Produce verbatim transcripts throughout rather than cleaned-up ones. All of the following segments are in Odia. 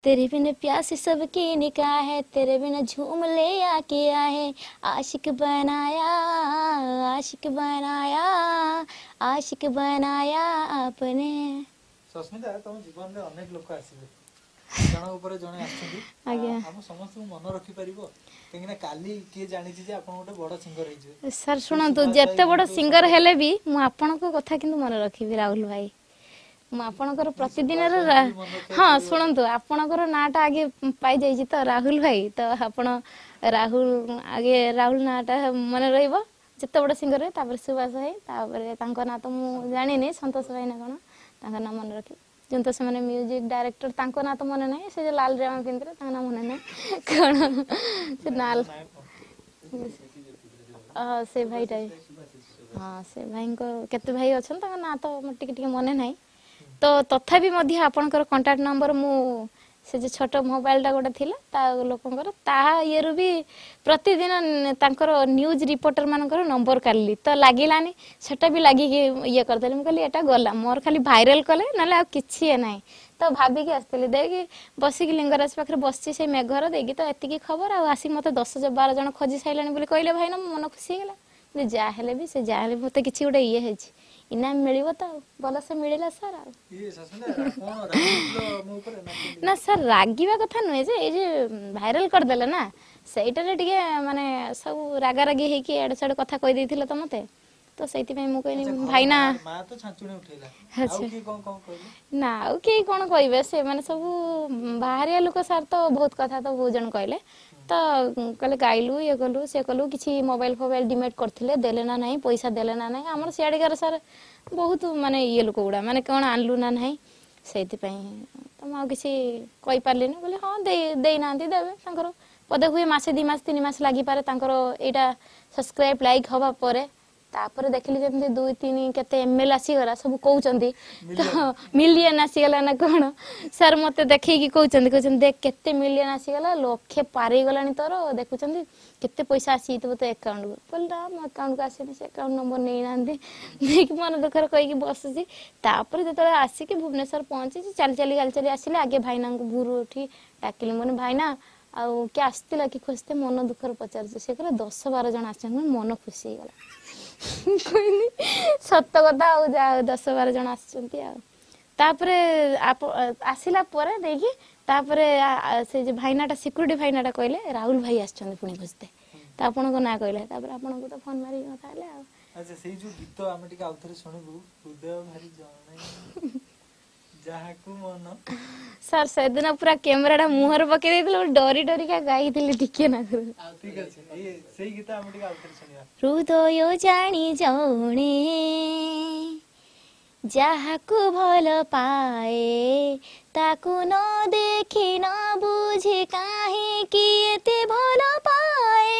तेरे बिन प्यास सबकी निगाह है, तेरे बिन झूम ले आके है, आशिक बनाया आशिक बनाया आशिक बनाया आपने। ସସ୍ମିତା, ତମ ଜୀବନରେ ଅନେକ ଲୋକ ଆସିବେ, ଜଣଙ୍କ ଉପରେ ଜଣେ ଆସିଛନ୍ତି। ଆଜ୍ଞା। ଆମ ସମସ୍ତଙ୍କୁ ମନେ ରଖିପାରିବ? କାହିଁକି ନା କାଲି କିଏ ଜାଣିଛି ଯେ ଆପଣ ଗୋଟେ ବଡ ସିଙ୍ଗର ହେଇଯିବେ। ସାର୍ ଶୁଣନ୍ତୁ, ଯେତେ ବଡ ସିଙ୍ଗର ହେଲେ ବି ମୁଁ ଆପଣଙ୍କ କଥା କିନ୍ତୁ ମନେ ରଖିବି ରାହୁଲ ଭାଇ। ମୁଁ ଆପଣଙ୍କର ପ୍ରତିଦିନର, ହଁ ଶୁଣନ୍ତୁ, ଆପଣଙ୍କର ନାଁଟା ଆଗେ ପାଇଯାଇଛି ତ ରାହୁଲ ଭାଇ, ତ ଆପଣ ରାହୁଲ ଆଗେ, ରାହୁଲ ନାଁଟା ମନେ ରହିବ ଯେତେ ବଡ ସିଙ୍ଗର। ତାପରେ ସୁଭାଷ ଭାଇ, ତାପରେ ତାଙ୍କ ନାଁ ତ ମୁଁ ଜାଣିନି, ସନ୍ତୋଷ ଭାଇ ନା କଣ, ତାଙ୍କ ନାଁ ମନେ ରଖିବି। ଯେମିତି ସେମାନେ ମ୍ୟୁଜିକ ଡାଇରେକ୍ଟର, ତାଙ୍କ ନାଁ ତ ମନେ ନାହିଁ। ସେ ଯୋଉ ଲାଲ ଜାମା ପିନ୍ଧିଥିଲେ ତାଙ୍କ ନାଁ ମନେ ନାହିଁ, କଣ ସେ ନାଲ, ସେ ଭାଇଟା, ହଁ ସେ ଭାଇଙ୍କ କେତେ ଭାଇ ଅଛନ୍ତି, ତାଙ୍କ ନାଁ ତ ଟିକେ ଟିକେ ମନେ ନାହିଁ। ତ ତଥାପି ମଧ୍ୟ ଆପଣଙ୍କର କଣ୍ଟାକ୍ଟ ନମ୍ବର ମୁଁ ସେ ଯୋଉ ଛୋଟ ମୋବାଇଲଟା ଗୋଟେ ଥିଲା ତା ଲୋକଙ୍କର, ତାହା ଇଏରୁ ବି ପ୍ରତିଦିନ ତାଙ୍କର ନ୍ୟୁଜ୍ ରିପୋର୍ଟର ମାନଙ୍କର ନମ୍ବର କାଢ଼ିଲି, ତ ଲାଗିଲାନି। ସେଟା ବି ଲାଗିକି ଇଏ କରିଦେଲି। ମୁଁ କହିଲି ଏଟା ଗଲା, ମୋର ଖାଲି ଭାଇରାଲ କଲେ, ନହେଲେ ଆଉ କିଛି ଇଏ ନାହିଁ। ତ ଭାବିକି ଆସିଥିଲି, ଦେଇକି ବସିକି ଲିଙ୍ଗରାଜ ପାଖରେ ବସିଛି ସେଇ ମେଘର ଦେଇକି ତ ଏତିକି ଖବର, ଆଉ ଆସିକି ମୋତେ ଦଶ ବାର ଜଣ ଖୋଜି ସାରିଲାଣି ବୋଲି କହିଲେ ଭାଇନା, ମୋ ମନ ଖୁସି ହେଇଗଲା। ଯାହା ହେଲେ ବି ସେ ଯାହା ହେଲେ ବି ମୋତେ କିଛି ଗୋଟେ ଇଏ ହେଇଛି, ଇନାମ ମିଳିବ ତ, ଆଉ ଭଲସେ ମିଳିଲା ସାର୍। ଆଉ ନା ସାର୍, ରାଗିବା କଥା ନୁହେଁ ଯେ, ଏଇ ଯେ ଭାଇରାଲ କରିଦେଲେ ନା, ସେଇଟାରେ ଟିକେ ମାନେ ସବୁ ରାଗାରାଗି ହେଇକି ଏଆଡ଼େ ସିଆଡ଼େ କଥା କହିଦେଇଥିଲେ ତ ମତେ, ତ ସେଇଥିପାଇଁ ମୁଁ କହିଲି ଭାଇନା। ଆଚ୍ଛା, ନା ଆଉ କେହି କଣ କହିବେ, ସେମାନେ ସବୁ ବାହାରିଆ ଲୋକ ସାର୍, ତ ବହୁତ କଥା ତ ବହୁତ ଜଣ କହିଲେ। ତ କହିଲେ ଗାଇଲୁ, ଇଏ କଲୁ, ସେ କଲୁ, କିଛି ମୋବାଇଲ ଫୋବାଇଲ ଡିମେଟ୍ କରିଥିଲେ, ଦେଲେ ନା ନାହିଁ, ପଇସା ଦେଲେ ନା ନାହିଁ। ଆମର ସିଆଡ଼ିକାର ସାର୍ ବହୁତ ମାନେ ଇଏ ଲୋକ ଗୁଡ଼ା, ମାନେ କ'ଣ ଆଣିଲୁ ନା ନାହିଁ, ସେଇଥିପାଇଁ ତ ମୁଁ ଆଉ କିଛି କହିପାରିଲିନି। କହିଲି ହଁ ଦେଇ ଦେଇନାହାନ୍ତି, ଦେବେ, ତାଙ୍କର ବୋଧେ ହୁଏ ମାସେ ଦୁଇ ମାସ ତିନି ମାସ ଲାଗିପାରେ ତାଙ୍କର ଏଇଟା ସବସ୍କ୍ରାଇବ୍ ଲାଇକ୍ ହବା ପରେ। ତାପରେ ଦେଖିଲି ଯେମିତି ଦୁଇ ତିନି କେତେ ଏମ୍ ଏଲ୍ ଆସିଗଲା, ସବୁ କହୁଛନ୍ତି ତ ମିଲିୟନ ଆସିଗଲା ନା କ'ଣ। ସାର୍ ମତେ ଦେଖେଇକି କହୁଛନ୍ତି, କହୁଛନ୍ତି ଦେଖ କେତେ ମିଲିୟନ ଆସିଗଲା, ଲକ୍ଷେ ପାରେଇଗଲାଣି ତୋର, ଦେଖୁଛନ୍ତି କେତେ ପଇସା ଆସିଯାଇଥିବ ତୋ ଆକାଉଣ୍ଟକୁ। କହିଲି ନା, ମୋ ଆକାଉଣ୍ଟକୁ ଆସିନି, ସେ ଆକାଉଣ୍ଟ ନମ୍ବର ନେଇନାହାନ୍ତି। ନେଇକି ମନ ଦୁଃଖରେ କହିକି ବସୁଛି। ତାପରେ ଯେତେବେଳେ ଆସିକି ଭୁବନେଶ୍ୱର ପହଞ୍ଚିଛି, ଚାଲି ଚାଲି ଚାଲି ଚାଲି ଆସିଲେ, ଆଗେ ଭାଇନାଙ୍କୁ ଭୁରୁ ଉଠି ଡାକିଲି। ମୁଁ କହିଲି ଭାଇନା, ଆଉ କିଏ ଆସିଥିଲା କି ଖୋଜିତେ? ମନ ଦୁଃଖରେ ପଚାରୁଛି। ସେ କହିଲେ ଦଶ ବାର ଜଣ ଆସିଛନ୍ତି। ମନ ଖୁସି ହେଇଗଲା, କହିଲି ସତ କଥା, ଆଉ ଯାହା ଦଶ ବାର ଜଣ ଆସିଛନ୍ତି। ଆଉ ତାପରେ ଆସିଲା ପରେ ଦେଇକି ତାପରେ ସେ ଯୋଉ ଭାଇନାଟା, ସିକ୍ୟୁରିଟି ଭାଇନାଟା କହିଲେ ରାହୁଲ ଭାଇ ଆସିଛନ୍ତି ପୁଣି ଖୋଜିତେ, ତ ଆପଣଙ୍କ ନାଁ କହିଲେ। ତାପରେ ଆପଣଙ୍କୁ ତ ଫୋନ ମାରିକି କଥା ହେଲେ। ଆଉ ଆଚ୍ଛା, ସେଇ ଯୋଉ ଗୀତ ଆମେ ଟିକେ ଆଉଥରେ ଶୁଣିବୁ, ହୃଦୟ ଭାରି ଜଣେ ଯାହାକୁ ମନ। ସାର୍ ସେଦିନ ପୁରା କ୍ୟାମେରାଟା ମୁହଁରେ ପକେଇ ଦେଇଥିଲେ, ଡରି ଡରିକା ଗାଇଥିଲି ଟିକେ ନାକୁ। ଠିକ ଅଛି, ସେଇ ଗୀତ ଆମେ ଟିକେ ଆଉଥରେ ଶୁଣିବା। ହୃଦୟ ଜାଣି ଜଣେ ଯାହାକୁ ଭଲ ପାଏ, ତାକୁ ନ ଦେଖି ନ ବୁଝି କାହିଁକି ଏତେ ଭଲ ପାଏ?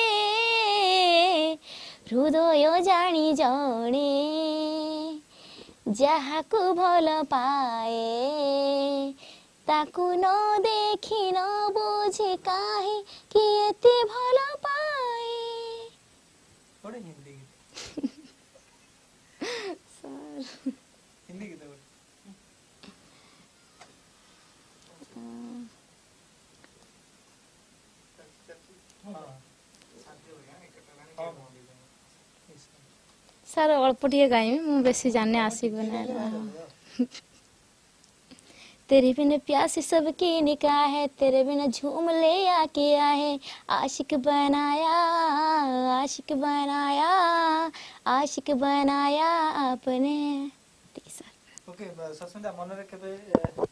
ହୃଦୟ ଜାଣି ଜଣେ ଯାହାକୁ ଭଲ ପାଏ, ତାକୁ ନ ଦେଖି ନ ବୁଝି କାହିଁକି ଏତେ ଭଲ ପାଏ? ଗୋଟେ ହିନ୍ଦୀ ଗୀତ ସାର୍, ହିନ୍ଦୀ ଗୀତ ଗୋଟେ। ହଁ ହଁ, ସାର୍ ଅଳ୍ପ ଟିକେ ଗାଇବି, ମୁଁ ବେଶୀ ଜାଣିନି, ଆସିବ ନା। तेरे बिन प्यास सबकी निगाह है, तेरे बिन झूम ले आके है, आशिक बनाया आशिक बनाया आशिक बनाया आपने। ସାର୍ ଓକେ, ସସ୍ମିତା, ମନରେ କେବେ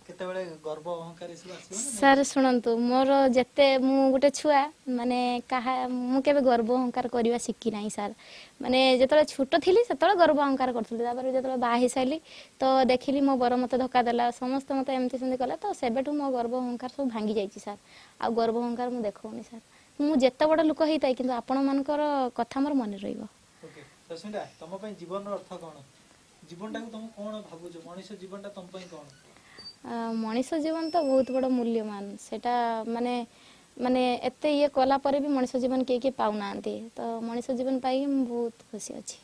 କେତେବେଳେ ଗର୍ବ ଅହଙ୍କାର ଏସବୁ ଆସିବ ନା? ସାର୍ ଶୁଣନ୍ତୁ, ମୋର ଯେତେ ମୁଁ ଗୋଟେ ଛୁଆ, ମାନେ କାହା ମୁଁ କେବେ ଗର୍ବ ଅହଙ୍କାର କରିବା ଶିଖି ନାହିଁ ସାର୍। ମାନେ ଯେତେବେଳେ ଛୋଟ ଥିଲି ସେତେବେଳେ ଗର୍ବ ଅହଙ୍କାର କରୁଥିଲି। ତାପରେ ଯେତେବେଳେ ବାହା ହେଇସାରିଲି ତ ଦେଖିଲି ମୋ ବର ମୋତେ ଧୋକା ଦେଲା, ସମସ୍ତେ ମୋତେ ଏମିତି ସେମିତି କଲେ, ତ ସେବେଠୁ ମୋ ଗର୍ବ ଅହଙ୍କାର ସବୁ ଭାଙ୍ଗି ଯାଇଛି ସାର୍। ଆଉ ଗର୍ବ ଅହଙ୍କାର ମୁଁ ଦେଖାଉନି ସାର୍। ମୁଁ ଯେତେ ବଡ଼ ଲୋକ ହେଇଥାଏ, କିନ୍ତୁ ଆପଣମାନଙ୍କର କଥା ମୋର ମନେ ରହିବ। ଓକେ ସସ୍ମିତା, ତମ ପାଇଁ ଜୀବନର ଅର୍ଥ କଣ? ଜୀବନଟାକୁ ତମେ କଣ ଭାବୁଛ? ମଣିଷ ଜୀବନଟା ତମ ପାଇଁ କଣ? ମଣିଷ ଜୀବନ ତ ବହୁତ ବଡ଼ ମୂଲ୍ୟବାନ। ସେଇଟା ମାନେ ମାନେ ଏତେ ଇଏ କଲା ପରେ ବି ମଣିଷ ଜୀବନ କିଏ କିଏ ପାଉନାହାନ୍ତି, ତ ମଣିଷ ଜୀବନ ପାଇକି ମୁଁ ବହୁତ ଖୁସି ଅଛି।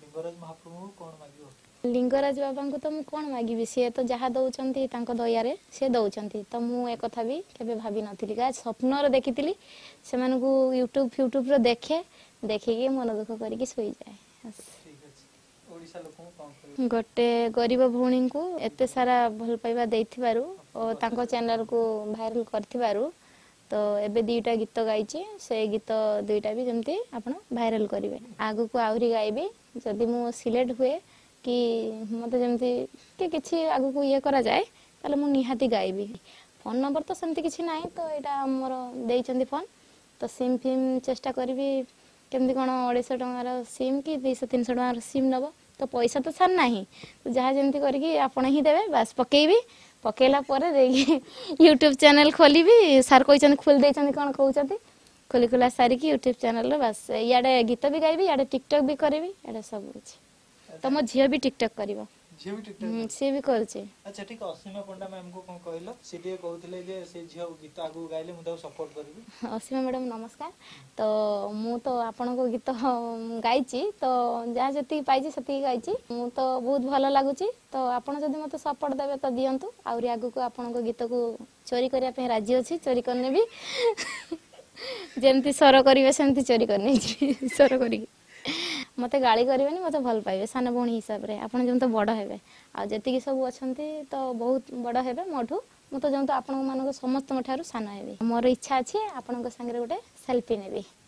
ଲିଙ୍ଗରାଜ ମହାପ୍ରଭୁଙ୍କୁ କଣ ମାଗିବ? ଲିଙ୍ଗରାଜ ବାବାଙ୍କୁ ତ ମୁଁ କ'ଣ ମାଗିବି, ସିଏ ତ ଯାହା ଦେଉଛନ୍ତି ତାଙ୍କ ଦୟାରେ ସିଏ ଦେଉଛନ୍ତି। ତ ମୁଁ ଏକଥା ବି କେବେ ଭାବିନଥିଲି, କାହା ସ୍ୱପ୍ନରେ ଦେଖିଥିଲି ସେମାନଙ୍କୁ, ୟୁଟ୍ୟୁବ୍ ଫ୍ୟୁଟ୍ୟୁବ୍ରେ ଦେଖେ, ଦେଖିକି ମନ ଦୁଃଖ କରିକି ଶୋଇଯାଏ। ଠିକ ଅଛି, ଓଡ଼ିଶା ଲୋକଙ୍କୁ କ'ଣ କହିବେ? ଗୋଟେ ଗରିବ ଭଉଣୀଙ୍କୁ ଏତେ ସାରା ଭଲ ପାଇବା ଦେଇଥିବାରୁ ଓ ତାଙ୍କ ଚ୍ୟାନେଲକୁ ଭାଇରାଲ କରିଥିବାରୁ, ତ ଏବେ ଦୁଇଟା ଗୀତ ଗାଇଛି, ସେ ଗୀତ ଦୁଇଟା ବି ଯେମିତି ଆପଣ ଭାଇରାଲ କରିବେ। ଆଗକୁ ଆହୁରି ଗାଇବି, ଯଦି ମୁଁ ସିଲେକ୍ଟ ହୁଏ କି ମୋତେ ଯେମିତି କି କିଛି ଆଗକୁ ଇଏ କରାଯାଏ, ତାହେଲେ ମୁଁ ନିହାତି ଗାଇବି। ଫୋନ୍ ନମ୍ବର ତ ସେମିତି କିଛି ନାହିଁ, ତ ଏଇଟା ମୋର ଦେଇଛନ୍ତି ଫୋନ୍। ତ ସିମ୍ ଫିମ୍ ଚେଷ୍ଟା କରିବି କେମିତି କ'ଣ ଅଢ଼େଇଶହ ଟଙ୍କାର ସିମ୍ କି ଦୁଇଶହ ତିନିଶହ ଟଙ୍କାର ସିମ୍ ନେବ, ତ ପଇସା ତ ସାର୍ ନାହିଁ, ତ ଯାହା ଯେମିତି କରିକି ଆପଣ ହିଁ ଦେବେ, ବାସ୍ ପକେଇବି। ପକେଇଲା ପରେ ଦେଇକି ୟୁଟ୍ୟୁବ୍ ଚ୍ୟାନେଲ୍ ଖୋଲିବି। ସାର୍ କହିଛନ୍ତି, ଖୋଲି ଦେଇଛନ୍ତି, କ'ଣ କହୁଛନ୍ତି, ଖୋଲି ଖୋଲା ସାରିକି ୟୁଟ୍ୟୁବ୍ ଚ୍ୟାନେଲ୍ରେ ବାସ୍ ଇଆଡ଼େ ଗୀତ ବି ଗାଇବି, ଇଆଡ଼େ ଟିକଟକ୍ ବି କରିବି, ଇଆଡ଼େ ସବୁ କିଛି। ତ ମୋ ଝିଅ ବି ଟିକଟକ୍ କରିବ। ଝିଅ ବି ଟିକଟକ୍? ସିଏ ବି କରୁଛି। ଆଚ୍ଛା ଠିକ, ଅସୀମା ପଣ୍ଡା ମ୍ୟାମକୁ କ'ଣ କହିଲ? ସେ ଟିକେ କହୁଥିଲେ ଯେ ସେ ଝିଅ ଗୀତ ଆଗକୁ ଗାଇଲେ ମୁଁ ତାକୁ ସପୋର୍ଟ କରିବି। ଅସୀମା ମ୍ୟାଡ଼ାମ ନମସ୍କାର। ତ ମୁଁ ତ ଆପଣଙ୍କ ଗୀତ ଗାଇଛି, ତ ଯାହା ଯେତିକି ପାଇଛି ସେତିକି ଗାଇଛି ମୁଁ, ତ ବହୁତ ଭଲ ଲାଗୁଛି। ତ ଆପଣ ଯଦି ମୋତେ ସପୋର୍ଟ ଦେବେ ତ ଦିଅନ୍ତୁ, ଆହୁରି ଆଗକୁ ଆପଣଙ୍କ ଗୀତକୁ ଚୋରି କରିବା ପାଇଁ ରାଜି ଅଛି, ଚୋରି କରିନେବି। ଯେମିତି ସ୍ୱର କରିବେ ସେମିତି ଚୋରି କରିନେଇଯିବି ସ୍ୱର କରିକି। ମୋତେ ଗାଳି କରିବେନି, ମୋତେ ଭଲ ପାଇବେ ସାନ ଭଉଣୀ ହିସାବରେ। ଆପଣ ଯେମିତି ବଡ଼ ହେବେ, ଆଉ ଯେତିକି ସବୁ ଅଛନ୍ତି ତ ବହୁତ ବଡ଼ ହେବେ ମୋଠୁ, ମୁଁ ତ ଯେମିତି ଆପଣଙ୍କ ମାନଙ୍କ ସମସ୍ତଙ୍କ ଠାରୁ ସାନ ହେବି। ମୋର ଇଚ୍ଛା ଅଛି ଆପଣଙ୍କ ସାଙ୍ଗରେ ଗୋଟେ ସେଲ୍ଫି ନେବି।